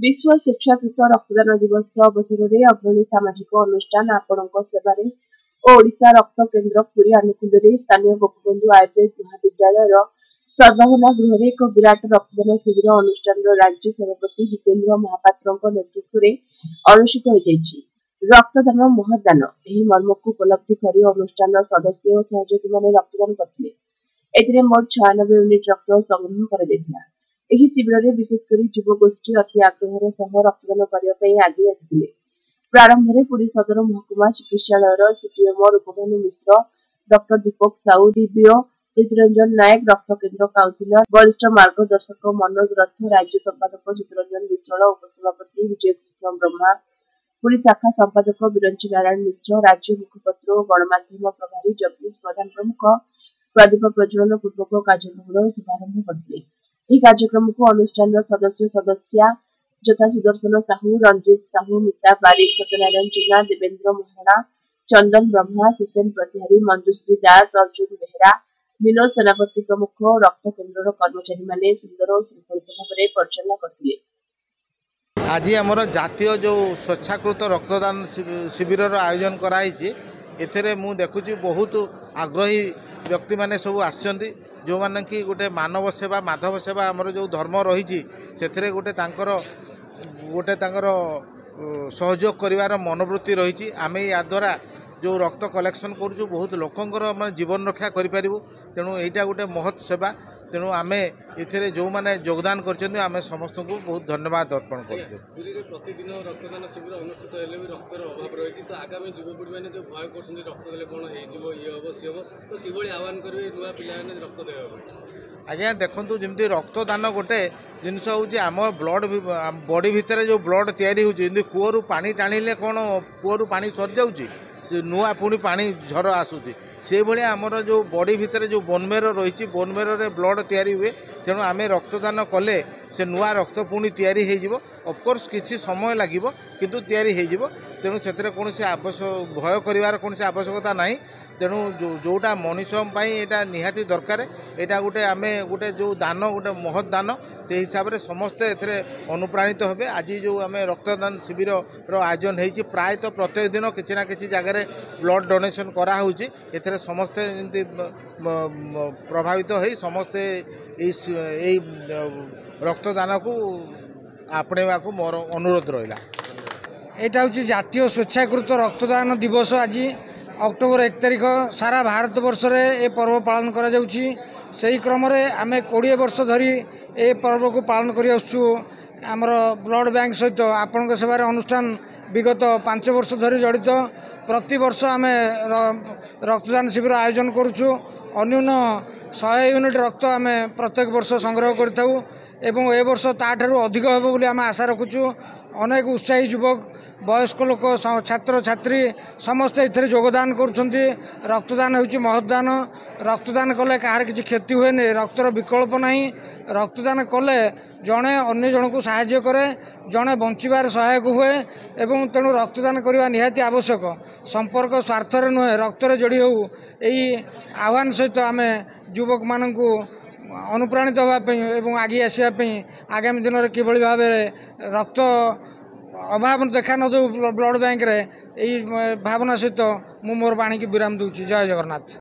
ବିଶ୍ୱ ସ୍ୱେଚ୍ଛାକୃତ ରକ୍ତଦାନ ଦିବସ ଅବସରରେ ଅଗ୍ରଣୀ ସାମାଜିକ ଅନୁଷ୍ଠାନ ଆପଣଙ୍କ ସେବାରେ ଓ ଓଡ଼ିଶା ରକ୍ତ କେନ୍ଦ୍ର ପୁରୀ ଆନୁକୂଲ୍ୟରେ ସ୍ଥାନୀୟ ଗୋପବନ୍ଧୁ ଆୟୁର୍ବେଦ ମହାବିଦ୍ୟାଳୟର ସଦ୍ଭାବନା ଗୃହରେ ଏକ ବିରାଟ ରକ୍ତଦାନ ଶିବିର ଅନୁଷ୍ଠାନର ରାଜ୍ୟ ସଭାପତି ଜିତେନ୍ଦ୍ର ମହାପାତ୍ରଙ୍କ ନେତୃତ୍ୱରେ ଅନୁଷ୍ଠିତ ହୋଇଯାଇଛି। ରକ୍ତଦାନ ମହତଦାନ, ଏହି ମର୍ମକୁ ଉପଲବ୍ଧି କରି ଅନୁଷ୍ଠାନର ସଦସ୍ୟ ଓ ସହଯୋଗୀମାନେ ରକ୍ତଦାନ କରିଥିଲେ। ଏଥିରେ ମୋଟ 96 ୟୁନିଟ୍ ରକ୍ତ ସଂଗ୍ରହ କରାଯାଇଥିଲା। ଏହି ଶିବିରରେ ବିଶେଷ କରି ଯୁବଗୋଷ୍ଠୀ ଅତି ଆଗ୍ରହର ସହ ରକ୍ତଦାନ କରିବା ପାଇଁ ଆଗେଇ ଆସିଥିଲେ। ପ୍ରାରମ୍ଭରେ ପୁରୀ ସଦର ମହକୁମା ଚିକିତ୍ସାଳୟର CDMO Rupabhanu Mishra, doctor Deepak Sahu, DBO Pritiranjan Nayak, ରକ୍ତ କେନ୍ଦ୍ର କାଉନସିଲର ବରିଷ୍ଠ ମାର୍ଗଦର୍ଶକ ମନୋଜ ରଥ, ରାଜ୍ୟ ସମ୍ପାଦକ ଚିତ୍ତରଞ୍ଜନ ବିଶ୍ୱାଳ, ଉପସଭାପତି ବିଜୟକୃଷ୍ଣ ବ୍ରହ୍ମା, ପୁରୀ ଶାଖା ସମ୍ପାଦକ ବିରଞ୍ଚି ନାରାୟଣ ମିଶ୍ର, ରାଜ୍ୟ ମୁଖପତ୍ର ଓ ଗଣମାଧ୍ୟମ ପ୍ରଭାରୀ ଜଗଦୀଶ ପ୍ରଧାନ ପ୍ରମୁଖ ପ୍ରଦୀପ ପ୍ରଜ୍ୱଳନ ପୂର୍ବକ କାର୍ଯ୍ୟକ୍ରମର ଶୁଭାରମ୍ଭ କରିଥିଲେ। ଏହି କାର୍ଯ୍ୟକ୍ରମକୁ ଅନୁଷ୍ଠାନର ସଦସ୍ୟ ସଦସ୍ୟା ଯଥା ସୁଦର୍ଶନ ସାହୁ, ରଣଜିତ ସାହୁ, ମିତା ବାରିକ, ସତ୍ୟନାରାୟଣ ଜେନା, ଦେବେନ୍ଦ୍ର ମହାରଣା, ଚନ୍ଦନ ବ୍ରହ୍ମା, ସୁସେନ ପ୍ରତିହାରୀ, ମଞ୍ଜୁଶ୍ରୀ ଦାସ, ଅର୍ଜୁନ ବେହେରା, ବିନୋଦ ସେନାପତି ପ୍ରମୁଖ ରକ୍ତ କେନ୍ଦ୍ରର କର୍ମଚାରୀମାନେ ସୁନ୍ଦର ଓ ଶୃଙ୍ଖଳିତ ଭାବରେ ପରିଚାଳନା କରିଥିଲେ। ଆଜି ଆମର ଜାତୀୟ ଯେଉଁ ସ୍ୱେଚ୍ଛାକୃତ ରକ୍ତଦାନ ଶିବିରର ଆୟୋଜନ କରାହେଇଛି, ଏଥିରେ ମୁଁ ଦେଖୁଛି ବହୁତ ଆଗ୍ରହୀ ବ୍ୟକ୍ତିମାନେ ସବୁ ଆସିଛନ୍ତି, ଯେଉଁମାନେ କି ଗୋଟେ ମାନବ ସେବା ମାଧବ ସେବା ଆମର ଯେଉଁ ଧର୍ମ ରହିଛି, ସେଥିରେ ଗୋଟେ ତାଙ୍କର ସହଯୋଗ କରିବାର ମନୋବୃତ୍ତି ରହିଛି। ଆମେ ୟାଦ୍ୱାରା ଯେଉଁ ରକ୍ତ କଲେକ୍ସନ୍ କରୁଛୁ, ବହୁତ ଲୋକଙ୍କର ମାନେ ଜୀବନ ରକ୍ଷା କରିପାରିବୁ। ତେଣୁ ଏଇଟା ଗୋଟେ ମହତ୍ ସେବା। ତେଣୁ ଆମେ ଏଥିରେ ଯେଉଁମାନେ ଯୋଗଦାନ କରିଛନ୍ତି, ଆମେ ସମସ୍ତଙ୍କୁ ବହୁତ ଧନ୍ୟବାଦ ଅର୍ପଣ କରୁଛୁ। ପୁରୀରେ ପ୍ରତିଦିନ ରକ୍ତଦାନ ଶିବିର ଅନୁଷ୍ଠିତ ହେଲେ ବି ରକ୍ତର ଅଭାବ ରହିଛି। ତ ଆଗାମୀ ଯୁବପିଢ଼ିମାନେ ଯେଉଁ ଭୟ କରୁଛନ୍ତି, ରକ୍ତ ଦେଲେ କ'ଣ ହେଇଯିବ, ଇଏ ହେବ, ସିଏ ହେବ, ତ କିଭଳି ଆହ୍ୱାନ କରିବେ ନୂଆ ପିଲାମାନେ ରକ୍ତ ଦେବା ପାଇଁ? ଆଜ୍ଞା ଦେଖନ୍ତୁ, ଯେମିତି ରକ୍ତଦାନ ଗୋଟେ ଜିନିଷ ହେଉଛି, ଆମ ବ୍ଲଡ଼ ବଡି ଭିତରେ ଯେଉଁ ବ୍ଲଡ଼ ତିଆରି ହେଉଛି, ଯେମିତି କୂଅରୁ ପାଣି ଟାଣିଲେ କ'ଣ କୂଅରୁ ପାଣି ସରିଯାଉଛି? ସେ ନୂଆ ପୁଣି ପାଣି ଝର ଆସୁଛି। ସେଇଭଳିଆ ଆମର ଯେଉଁ ବଡି ଭିତରେ ଯେଉଁ ବୋନମେରୋ ରହିଛି, ବୋନମେରୋରେ ବ୍ଲଡ଼ ତିଆରି ହୁଏ। ତେଣୁ ଆମେ ରକ୍ତଦାନ କଲେ ସେ ନୂଆ ରକ୍ତ ପୁଣି ତିଆରି ହେଇଯିବ। ଅଫକୋର୍ସ କିଛି ସମୟ ଲାଗିବ, କିନ୍ତୁ ତିଆରି ହେଇଯିବ। ତେଣୁ ସେଥିରେ କୌଣସି ଆବଶ୍ୟକ ଭୟ କରିବାର କୌଣସି ଆବଶ୍ୟକତା ନାହିଁ। ତେଣୁ ଯେଉଁଟା ମଣିଷ ପାଇଁ ଏଇଟା ନିହାତି ଦରକାର। ଏଇଟା ଗୋଟେ ଆମେ ଗୋଟେ ଯେଉଁ ଦାନ, ଗୋଟେ ମହତ୍ ଦାନ, ସେଇ ହିସାବରେ ସମସ୍ତେ ଏଥିରେ ଅନୁପ୍ରାଣିତ ହେବେ। ଆଜି ଯେଉଁ ଆମେ ରକ୍ତଦାନ ଶିବିରର ଆୟୋଜନ ହେଇଛି, ପ୍ରାୟତଃ ପ୍ରତ୍ୟେକ ଦିନ କିଛି ନା କିଛି ଜାଗାରେ ବ୍ଲଡ଼ ଡୋନେସନ୍ କରାହେଉଛି। ଏଥିରେ ସମସ୍ତେ ଯେମିତି ପ୍ରଭାବିତ ହେଇ ସମସ୍ତେ ଏଇ ରକ୍ତଦାନକୁ ଆପଣେଇବାକୁ ମୋର ଅନୁରୋଧ ରହିଲା। ଏଇଟା ହେଉଛି ଜାତୀୟ ସ୍ୱେଚ୍ଛାକୃତ ରକ୍ତଦାନ ଦିବସ। ଆଜି ଅକ୍ଟୋବର 1 ତାରିଖ ସାରା ଭାରତବର୍ଷରେ ଏ ପର୍ବ ପାଳନ କରାଯାଉଛି। ସେହି କ୍ରମରେ ଆମେ 20 ବର୍ଷ ଧରି ଏ ପର୍ବକୁ ପାଳନ କରି ଆସୁଛୁ। ଆମର ବ୍ଲଡ଼ ବ୍ୟାଙ୍କ ସହିତ ଆପଣଙ୍କ ସେବାରେ ଅନୁଷ୍ଠାନ ବିଗତ 5 ବର୍ଷ ଧରି ଜଡ଼ିତ। ପ୍ରତିବର୍ଷ ଆମେ ରକ୍ତଦାନ ଶିବିର ଆୟୋଜନ କରୁଛୁ। ଅନ୍ୟୁନ 100 ୟୁନିଟ୍ ରକ୍ତ ଆମେ ପ୍ରତ୍ୟେକ ବର୍ଷ ସଂଗ୍ରହ କରିଥାଉ ଏବଂ ଏ ବର୍ଷ ତାଠାରୁ ଅଧିକ ହେବ ବୋଲି ଆମେ ଆଶା ରଖୁଛୁ। ଅନେକ ଉତ୍ସାହୀ ଯୁବକ, ବୟସ୍କ ଲୋକ, ଛାତ୍ରଛାତ୍ରୀ ସମସ୍ତେ ଏଥିରେ ଯୋଗଦାନ କରୁଛନ୍ତି। ରକ୍ତଦାନ ହେଉଛି ମହତଦାନ। ରକ୍ତଦାନ କଲେ କାହାର କିଛି କ୍ଷତି ହୁଏନି। ରକ୍ତର ବିକଳ୍ପ ନାହିଁ। ରକ୍ତଦାନ କଲେ ଜଣେ ଅନ୍ୟ ଜଣକୁ ସାହାଯ୍ୟ କରେ, ଜଣେ ବଞ୍ଚିବାରେ ସହାୟକ ହୁଏ ଏବଂ ତେଣୁ ରକ୍ତଦାନ କରିବା ନିହାତି ଆବଶ୍ୟକ। ସମ୍ପର୍କ ସ୍ୱାର୍ଥରେ ନୁହେଁ, ରକ୍ତରେ ଯୋଡ଼ି ହେଉ, ଏଇ ଆହ୍ୱାନ ସହିତ ଆମେ ଯୁବକମାନଙ୍କୁ ଅନୁପ୍ରାଣିତ ହେବା ପାଇଁ ଏବଂ ଆଗେଇ ଆସିବା ପାଇଁ, ଆଗାମୀ ଦିନରେ କିଭଳି ଭାବରେ ରକ୍ତ ଅଭାବ ଦେଖା ନ ଦେଉ ବ୍ଲଡ଼ ବ୍ୟାଙ୍କରେ, ଏଇ ଭାବନା ସହିତ ମୁଁ ମୋର ବାଣୀକି ବିରାମ ଦେଉଛି। ଜୟ ଜଗନ୍ନାଥ।